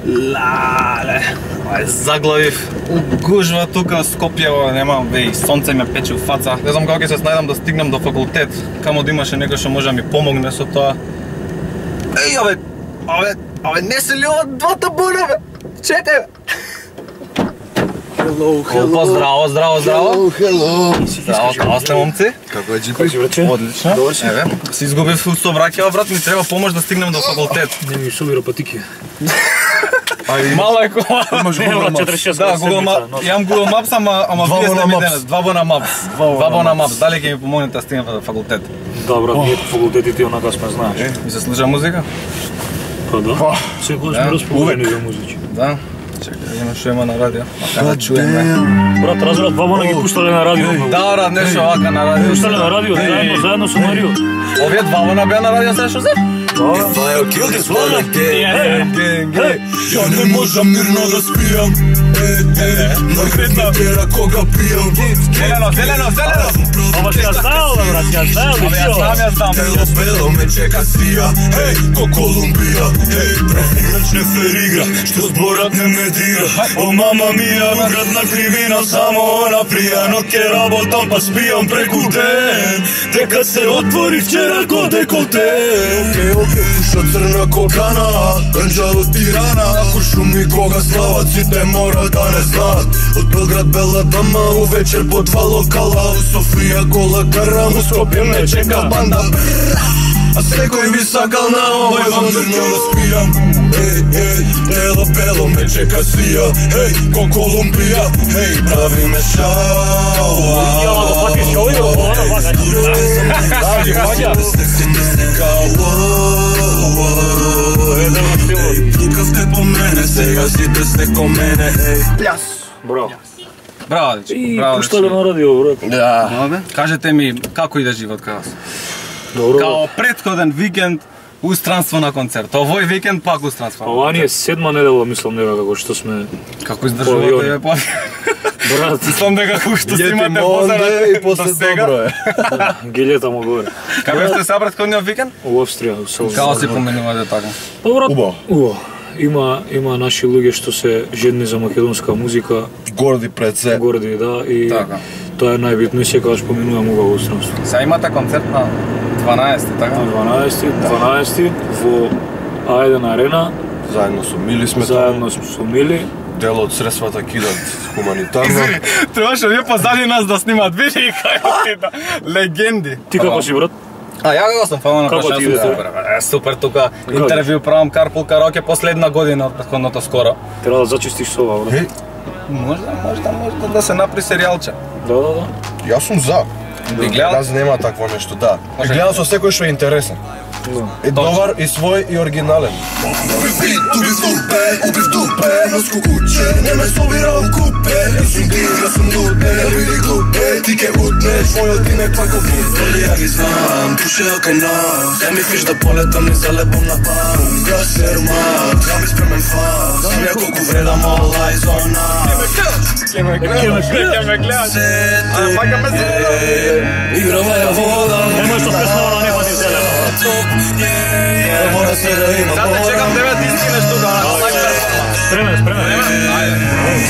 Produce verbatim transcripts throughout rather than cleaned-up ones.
Лале, ај заглавив у гужва тука Скопје, нема веј, сонце ме пече у фаца. Не знам како ќе се снајдам да стигнам до факултет, камо да имаше некој што може да ми помогне со тоа. Еј, абе, абе, абе, не се ли ова два табуна, бе? Чекај, бе. Hello, hello. Опа, здраво, здраво, здраво. Hello, hello. Здраво, како сте, момци? Како е, Джипи? Одлично. Еве, се изгубив со враќава, брат, ми треба помош да стигнем до факултет. Не ми собира патики. Мало е кола. Имаш Google Maps. Да, Google Maps. Јам Google Maps, ама ама вие сте ми денес. Два бона Maps. Два бона Maps. Дали ќе ми помогнете да стигнем до факултет? Да, брат, ние по факултетите онака сме знаеш. Ми се слуша музика? Па да. Секогаш сме расположени за музичи. Да. Чекај, да видиме што има на радио. Ака да чуеме. Брат, разбрат, два бона ги пуштале на радио. Да, брат, нешто вака на радио. Пуштале на радио, заедно, заедно со Марио. Овие два бона беа на радио, се што се? If I'll kill this world again, ја не можам мирно да спијам. На гретна тера кога пијам. Зелено, зелено, зелено! Ова си ја знаел, брат, си ја знаел, Абе, ја знам, ја знам. Бело, бело ме чека сија, хеј, ко Колумбија. Хеј, профилач не феригра, што зборат не ме дира. О, мама мија, градна кривина, само она прија. Но ке работам, па спијам преку ден. Дека се отвори вчера ко деколте. Океј, океј, пуша црна кокана, ганџа од Тирана. Ако шуми кога славаците мора да не знаат. Од Белград бела дама, увечер по два локала. У Софија кола карам, у Скопје ме чека банда. А секој ми сакал на овој вампирно да спијам. Еј, еј, бело, бело ме чека сија. Еј, ко Колумбија, еј, прави ме шауа. Ја, да патиш овој, ова вака. Да, ги ваѓа. Секси не се кауа. Еј, тука сте по мене, сега сите сте ко мене. Еј, Пляс. Браво. Браво, дечки. И Браво, пуштале на радио, брат. Да. Кажете ми, како иде живот кај вас? Добро. Као претходен викенд у странство на концерт. Овој викенд пак у странство. Ова ни е седма недела, мислам, нега како што сме. Како издржувате ја па? Брат, Мислам дека како што Лети снимате Монде и после добро е. гилета му горе. Како сте се претходниот викенд? У Австрија, у Село. Како се поменувате така? Па брат, Убаво. убаво. Има има наши луѓе што се жедни за македонска музика, Горди пред се. горди, да, и Така. тоа е најбитно и секогаш поминувам убаво странство. Сега имате концерт на дванаесети, така? На дванаесети, дванаесети во А еден арена, Заедно со Мили сме заедно таму. со Мили. Дел од средствата кидат хуманитарно. Требаше вие позади нас да снимат видеи кај легенди. Ти како си, брат? А ја како сум фала на Како прашање, ти сум иде? супер. Е, супер тука интервју правам Карпул Караоке последна година од претходното скоро. Треба да зачистиш со ова, брат. Еј, Можда, можда, можда да се направи серијалче. Да, да, да. јас сум за. Би гледал? Јас нема такво нешто, да. Може. Би гледал со секој што е интересен. И добар, и свој, и оригинален. Убив бит, убив дупе, убив дупе, носку куче, не ме собира у купе. Јас сум ти, јас сум лупе, не биди глупе, ти ке утнеш, мојот име пако футбол, ја ги знам, пушеа кај нас. Ја ми фиш да полетам и залепам на пам. Јас сермат, ја ми спремен фас, знам ја колку вредам all eyes on us. Ке ме гледаш, ке ме гледаш. А, пака ме се. Играва ја вода, Немој што преснава да не пати зелено. не мора се да има Сега те чекам тебе ти стигнеш тука. Спремен, спремен.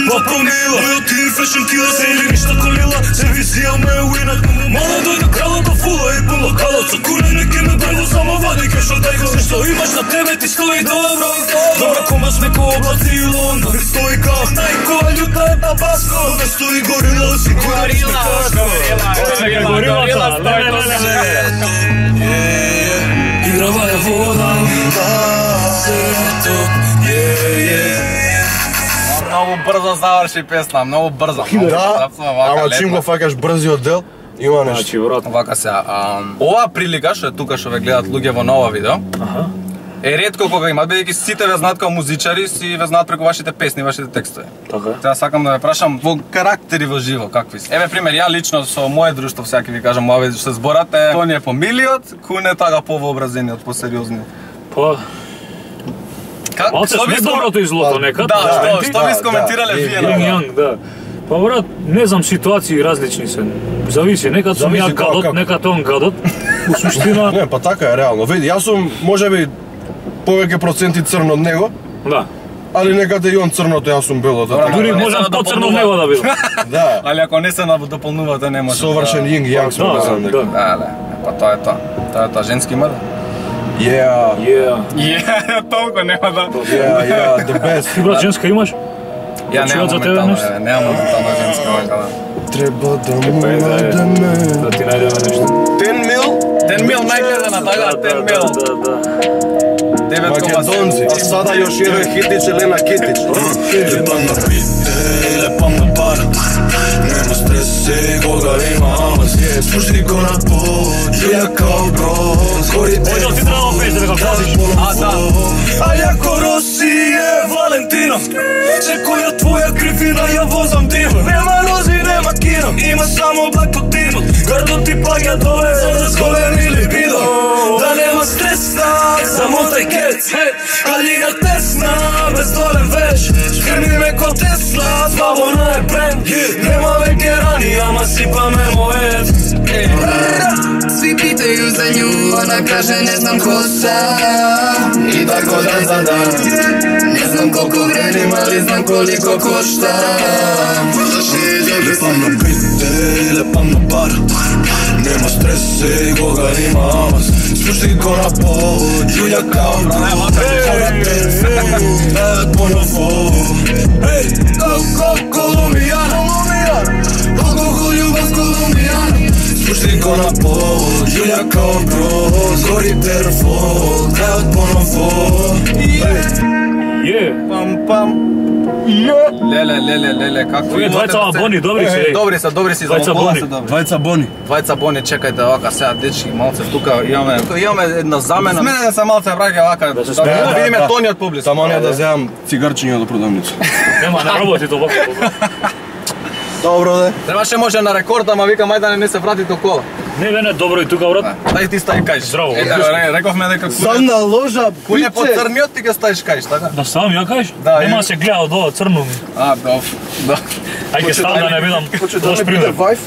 Попомила, мојот ти фешн кила се или ништа колила. Сервисија ме уинак, мала дојде кралата фула и по локалот со курене ке ме брго само вади кеш од тајко. Што имаш на тебе ти стои добро. Добро комаш неко облаци и Лондон. Стои као најко, љута е табаско. Не стои горила, си горила. Горилата, леле, леле. Играва ја вода, сето, е, е. Многу брзо заврши песна, многу брзо. Да, ама чим го фаќаш брзиот дел, има нешто. Значи, брат. Вака се, ова прилика што е тука што ве гледат луѓе во нова видео, Аха. е ретко кога имат, бидејќи сите ве знаат као музичари, си ве знаат преку вашите песни, вашите текстови. Така е. Сега сакам да ве прашам во карактери во живо какви се. Еве пример, ја лично со мое друштво сега ќе ви кажам ова што зборате, тој е помилиот, Куне тага повообразениот, посериозниот. Па, Как малце сме доброто и злото некад. Да, што моменти. што ви Да, скоментирале да, вие Јинг на јанг, да. Па брат, не знам, ситуации различни се. Зависи, некад сум Зависи ја како, гадот, како. некад он гадот. У суштина, Не, па така е реално. Види, јас сум можеби повеќе проценти црн од него, Да. али некаде и он црното, јас сум белото. Добра, Дури не се можам да поцрно дополнува. него да бидам. Да, Али ако не се дополнувате, не може. совршен јинг јанг сме Да, да знам да. дека. Да, да. Па тоа е тоа. Тоа е тоа женски има да. Yeah, Yeah. Е, толку нема да. yeah, yeah, the best. Ти брат женска имаш? Ја Чујат немам за тебе моментално, нешто? е, немам моментално женска вака да. Треба да му Да надеме. да ти најдеме нешто. Ten mil? Ten mil најгледана, така, ten mil. Да, да. девет кома седум. Македонци. А сада још еден хитич, Елена Китич. Лепам на бите, лепам на пара. Нема стрес се кога има амаз. Спушти го на пот, ја као броз. Гори те Ојде, ти треба пееш дека кажеш. А, да. А јако Роси е Валентино. Секоја твоја кривина ја возам диво. Нема рози, нема кино. Има само блак под димот. Грдот ти паѓа доле, за да зголем или бидо. Да нема стреса, замотај кец. Калига тесна, без долен веш. Скрми ме ко Тесла, славона е бренд. Нема веќе рани, ама сипаме мојет. Svi pitaju za nju, ona kaže ne znam ko sam. I tako dan za dan. Ne znam koliko vredim, ali znam koliko koštam. Lepam na bite, lepam na bar. Nема strese, koga ima amaz. Spušti go na pod, Julja kao bro. Ej, ponovo. Ej, ko Kolumbijana. Alkohol, ljubav Kolumbijana. Spušti go na pod, Julja kao bro. Gori telefon, ej, ponovo. Je. Пам пам. Леле, леле, леле, како Овие двајца бони, добри се. Добри се, добри се, Двајца за бони. се добри. Двајца бони. Двајца бони, чекајте вака сега дечки, малце тука имаме. Тука имаме една замена. Смене да се малце браќа вака. Да се смее, да да, видиме да. тониот публик. Само не да земам цигарчиња до продавница. Нема, не работи тоа вака. Добро де. Требаше може на рекорд, ама викам ајде да не се врати до кола. Не, бе, не, добро и тука, брат. Дај ти стај кај. Здраво. Е, да, ре- рековме дека Сам куне на ложа, куне по биче. црниот ти ќе стаиш кај, така? Да ставам ја кажеш? Да, Нема и- да се гледа од ова црно ми. А, добро. Да. Ај ќе ставам да не видам Хоче да лош не биде пример. вајф?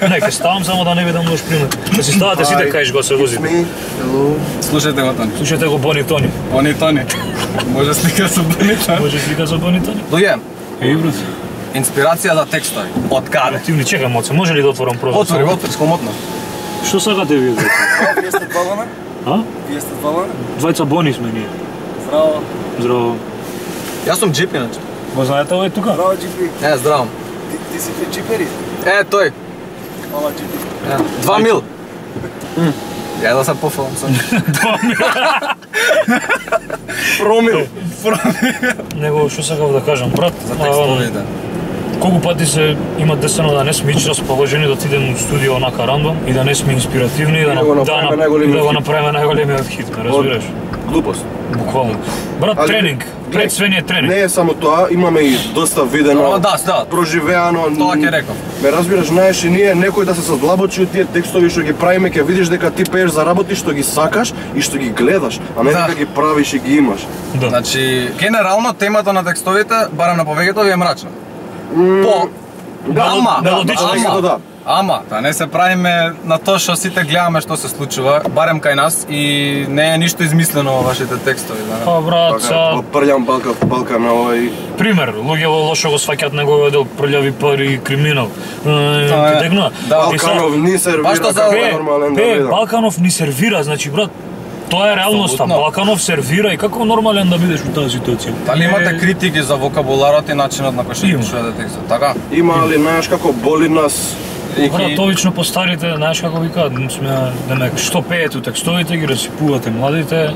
Не, ќе ставам само да не видам лош пример. Да си ставате сите кај го се возите. Ми, hello. Слушајте го Тони. Слушате го Бони Тони. Они Тони. Може слика со Бони Тони. Може слика за Бони Тони? Дојде. Еј, брат. Инспирација за текстови. Од каде? Ти ми чекај моце, може ли да отворам прозор? Отвори, отвори, скомотно. Што сакате вие? брат? Вие сте двамата? А? Вие сте двамата? Двајца Бони сме ние. Здраво. Здраво. Јас сум джип иначе. Го знаете овој тука? Здраво, Джипи. Е, здраво. Ти, ти си те джипери? Е, тој. Ама, Джипи. Е, Два мил. Ја да се пофалам сам. Промил. Него што сакав да кажам, брат. За а, текстовите. Колку пати се има десено да не сме ич расположени да отидеме у студио онака рандом и да не сме инспиративни и да, да го на- направиме да, најголемиот да го хит. направиме најголемиот хит, ме разбираш? Глупост. Буквално. Брат, Али, тренинг, пред све ни е тренинг. Не е само тоа, имаме и доста видено, О, да, да. проживеано. Тоа ќе реков. Ме разбираш, знаеш, и ние некој да се содлабочи од тие текстови што ги правиме, ќе видиш дека ти пееш за работи што ги сакаш и што ги гледаш, а не Да. дека ги правиш и ги имаш. Да. Значи, генерално темата на текстовите, барем на повеќето ви е мрачна. По ама, мелодично. ама, Да. ама, да не се правиме на тоа што сите гледаме што се случува, барем кај нас и не е ништо измислено во вашите текстови, да. Па брат, Така, са, прљам балка, балка на овој. пример, луѓе во лошо го сваќаат неговиот дел прљави пари и криминал. Тоа е- Ти тегнува? да, И са- Балканов ни сервира Баш тоа за- како Пе, нормален да Пе, видам. Балканов ни сервира, значи брат, тоа е реалноста. Апсолутно. Балканов сервира и како нормален да бидеш во таа ситуација? Дали Не- имате критики за вокабуларот и начинот на кој што Има. пишувате текстот, така? Има ли, знаеш како боли нас? Брат, точно по старите, знаеш како викаат, сме, демек, што пеете у текстовите, ги расипувате младите,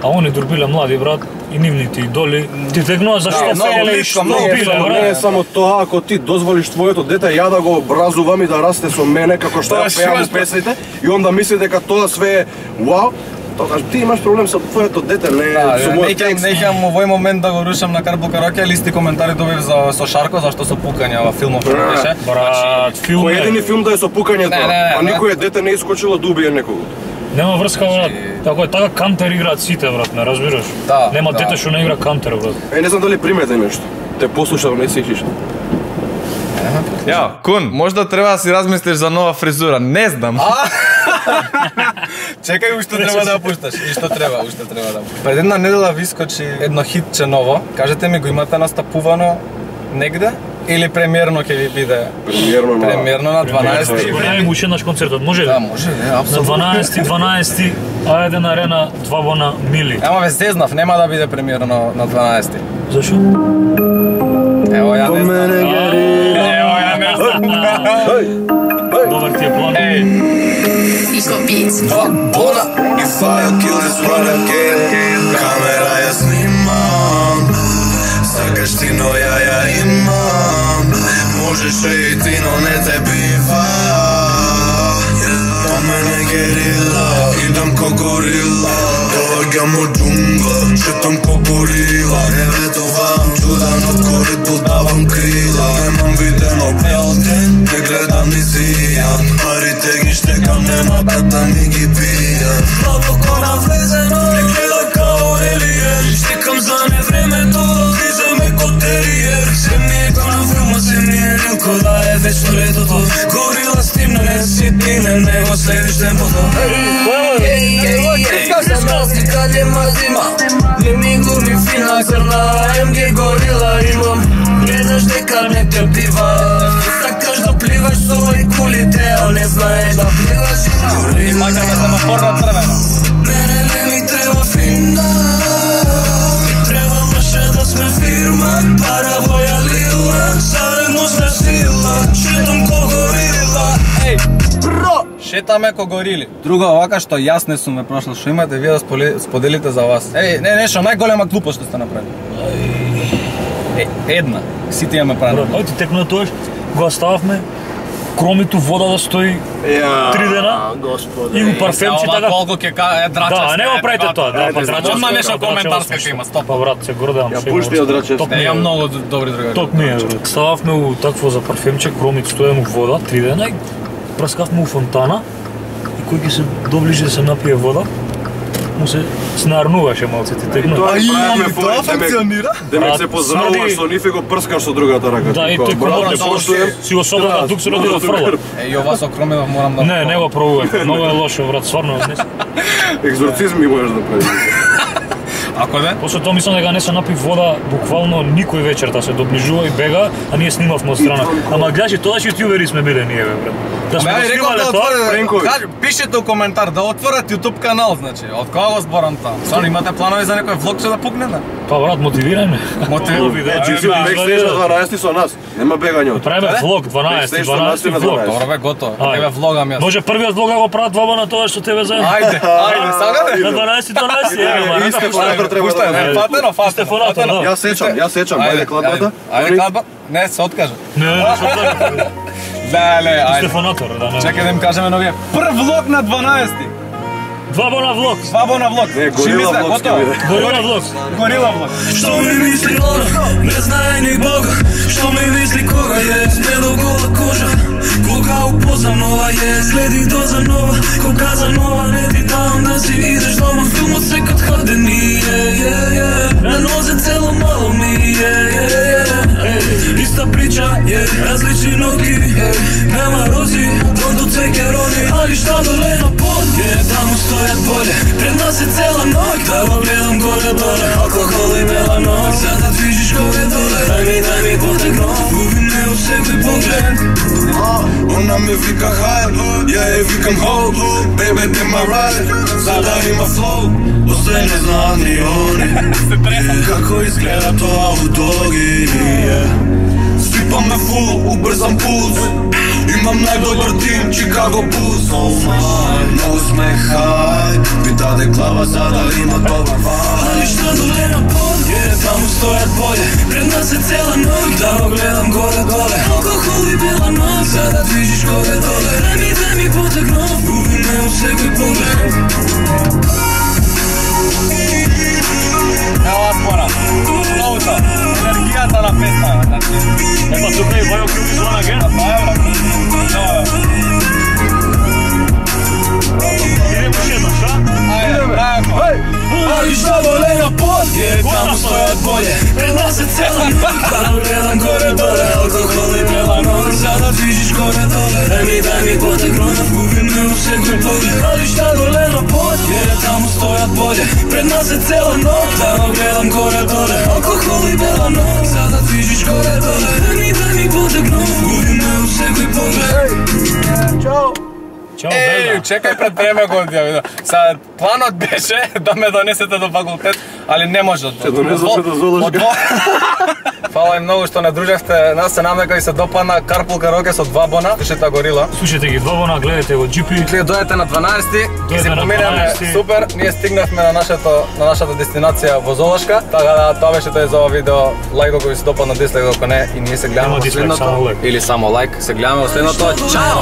а они дурбиле млади, брат, и нивните идоли. Ти тегнува за што многу пееле и близко, што многу Не е биле, само, не е брат. само тоа, ако ти дозволиш твоето дете ја да го образувам и да расте со мене како што Тоа ја е пеам шведско. песните и онда мисли дека тоа све е вау, тогаш ти имаш проблем со твоето дете, не Да, со не мојот ќе текст. не ќе овој момент да го рушам на Карбо Караке, листи коментари добив за со Шарко зашто со пукања во филмов што беше. Брат, филм Кој е, едини филм да е со пукањето, Не, не, не, а не. никој дете не искочило да убие некого. нема врска, брат. Како е, така кантер играат сите, брат, не разбираш? Да, Нема да. дете што не игра кантер, брат. Е, не знам дали примете нешто. Те послушав, не сеќиш. Ја, Кун, можда треба да си размислиш за нова фризура, не знам. Чекај, уште треба да пушташ. И што треба, уште треба да. Пред една недела ви скочи едно хитче ново. Кажете ми, го имате настапувано негде? Или премиерно ќе ви биде? Премиерно на Премиерно на дванаесети. Го најму уште еднаш концертот, може ли? Да, може, не, На апсолутно. дванаесети, дванаесети, а еден арена, два бона мили. Ама ве зезнав, нема да биде премиерно на дванаесети. Зашо? Ево, ја не знам. Ево, ја не знам. Добар ти е план. Еј, Iko Beats. Dva bona i fire killers run again. Kamera ja snimam, sakаш ti no ja ja imam. Možeš i ti no ne te biva. To mene gerila, idem ko gorila. Dovagjam u džungla, šetam ko gorila. Ne vedovam čudan od korit budavam krila. Nemam videno pelten, ne gledam ni zijan. Parite gi štekam, nema kata mi gi pijan. Plavo ko navlezeno, ne gleda kao alien. Štekam za ne vreme, to lize me ko terijer. Sve mi je kao na filmu, sve mi je rilko da je večno leto to. Gorila s tim ne sitine, nego slediš tempo to. Znaš kad je mazima, gdje mi glumi fina crna em ge gorila imam. Ne znaš neka ne te piva, sakaš da plivaš svoj kulite, a ne znaš da plivaš i Мајка ме семафорна црвена. Mene ne mi treba fina, treba naše da sme firma. Para voja lila, zaredno sme sila. Šetam ko gorila. Еј, бро! Шетаме ко горили. Друго овака што јас не сум ме прошла, што имате вие да споли- споделите за вас. Еј, не, нешто најголема глупост што сте направили. Е, една. Сите ја ме правили. Ајде текно да тоеш, го остававме, кромиту вода да стои три дена и го парфемче Ова така. колку ќе ка- е драчевска. Да, не го правите тоа, да, па драчевска. Одма нешто да, коментарска драчевска, ќе има, стоп. Па брат, се гордеам. Ја што пушти има. од драчевска. Ток Не, ми е, ја многу добри другари. Ток ми е, брат. Стававме у такво за парфемче, кромит стоеме у вода три дена и праскавме у фонтана и кој ќе се доближи да се напие вода, му се снарнуваше малце ти текно. Тоа и правиме тоа форум, демек- функционира? Демек Брат, се поздравуваш смрди- со нив и го прскаш со другата рака. Да, и Како, тој браво, кромот не само поштуем. си го собрата Да, тук се роди да доброто фрла. грб. Е, и ова со Кромидов морам да... Не, не го пробувајте, многу е лошо, брат, стварно. Не... Екзорцизми можеш да правиш. Ако не? После тоа мислам дека не се напи вода буквално никој вечерта се доближува и бега, а ние снимавме од страна. Ама гледаш, тоа што јутјубери сме биле ние, бе, брат. Да сме Ама го ја реков снимале да тоа. отворите, Пренкови. кажи, пишете у коментар да отворат YouTube канал, значи. Од кога го зборам тоа? Стварно имате планови за некој влог што да пукнете? Па брат, мотивирај ме. Мотивирај. Значи си да, бекстејдж на дванаесети со нас. Нема бегање од. Правиме влог дванаесети, Бекстејдж со нас дванаесети и на влог. дванаесети. Добро бе, готово. Ајде. Еве влогам јас. Може првиот влог да го прават двама на тоа што тебе заедно. Ајде, ајде, сагате? На дванаесети, дванаесети, еве, ма, Исто рада, фонатор треба да Пуштај, направи. не, фатено, фатено. Стефонато, фатено. да. Јас сечам, јас сечам, ајде кладбата. Ајде кладба. Не, се откажа. Не, не, што така. Леле, ајде. Стефонатор, да, не. Чекај да им кажеме новија. Прв влог на дванаесети. Два бона влог. Бабо на влог. Не, горила Шимица, влог ќе готово. биде. Горила влог. Горила влог. Што ми мисли она, не знае ни Бога. Што ми мисли кога е, смело гола кожа. Кога упознам нова е, следи доза нова. Кога за нова не ти дам да си идеш дома. Филмот се кад хадени, е, е, е. На нозе цело мало ми е, е, е. Иста прича, е, различни ноги, е. Нема рози, тонто цвеќе рони. Али шта доле на под, е, таму стојат поле. Пред нас е цела ноќ, да го гледам горе-доле. Алкохол и меланок, за да движиш горе-доле. Дај ми, дај ми потегно, губи ме у секој поглед. Она ме вика хај, ја е викам хоу. Baby, be my ride, за да има flow. Осте не знаат ни они како изгледа тоа у доги. Свипаме фул, убрзам пулс. Имам најдобар тим, Chicago Bulls. Многу сме хај, ми даде глава за да има добар вај. Али шта доле на под, е, таму стојат поле. Пред нас е цела ноќ, да го гледам горе-доле. Алкохол и бела ноќ, за да движиш горе-доле. Дај ми, дај ми потегно, губи ме у секој поглед. Ево спора. Флоута. Енергијата на песна. Ема тука и Вајо Кјуби звона ген. Идемо уште едно, шта? Али шта доле на под, е, таму стојат поле. Пред нас е цела ноќ, да го гледам горе-доле. Алкохол и бела ноќ, за да движиш горе-доле. Дай ми, дай ми потегнов, губим ме у секој поглед. Али шта доле на пот, jer таму стојат болje. Пред нас е цела ног, да го гледам горе-доле. Алкохол и бела ног, за да движиш горе-доле. Дай ми, дай ми потегнов, губим ме у секој поглед. Чао! Чао, Еј, Белда. чекај пред време го ја видам. Са планот беше да ме донесете до факултет, али не може. Се донесовте до Золашка. Фала им многу што не дружевте. Нас се намека и се допадна карпул караоке со два бона. Слушате горила. Слушайте ги два бона, гледате го джи пи. Вие дојдете на дванаесети и си Дојдете на поминеме дванаесети. супер. Ние стигнавме на нашето на нашата дестинација во Золашка. Така да тоа беше тоа за ова видео. Лајк ако ви се допадна, дислайк ако не, и ние се гледаме Нема во дислайк, само следното. лајк. Или само лајк. Се гледаме во следното. Чао.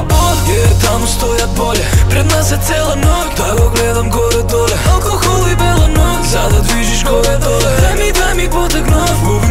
Jer таму стојат болje. Пред нас е цела ног, да го гледам горе-доле. Алкохол и бела ног, за да движиш горе-доле. Дай ми, дай ми потегнов, губим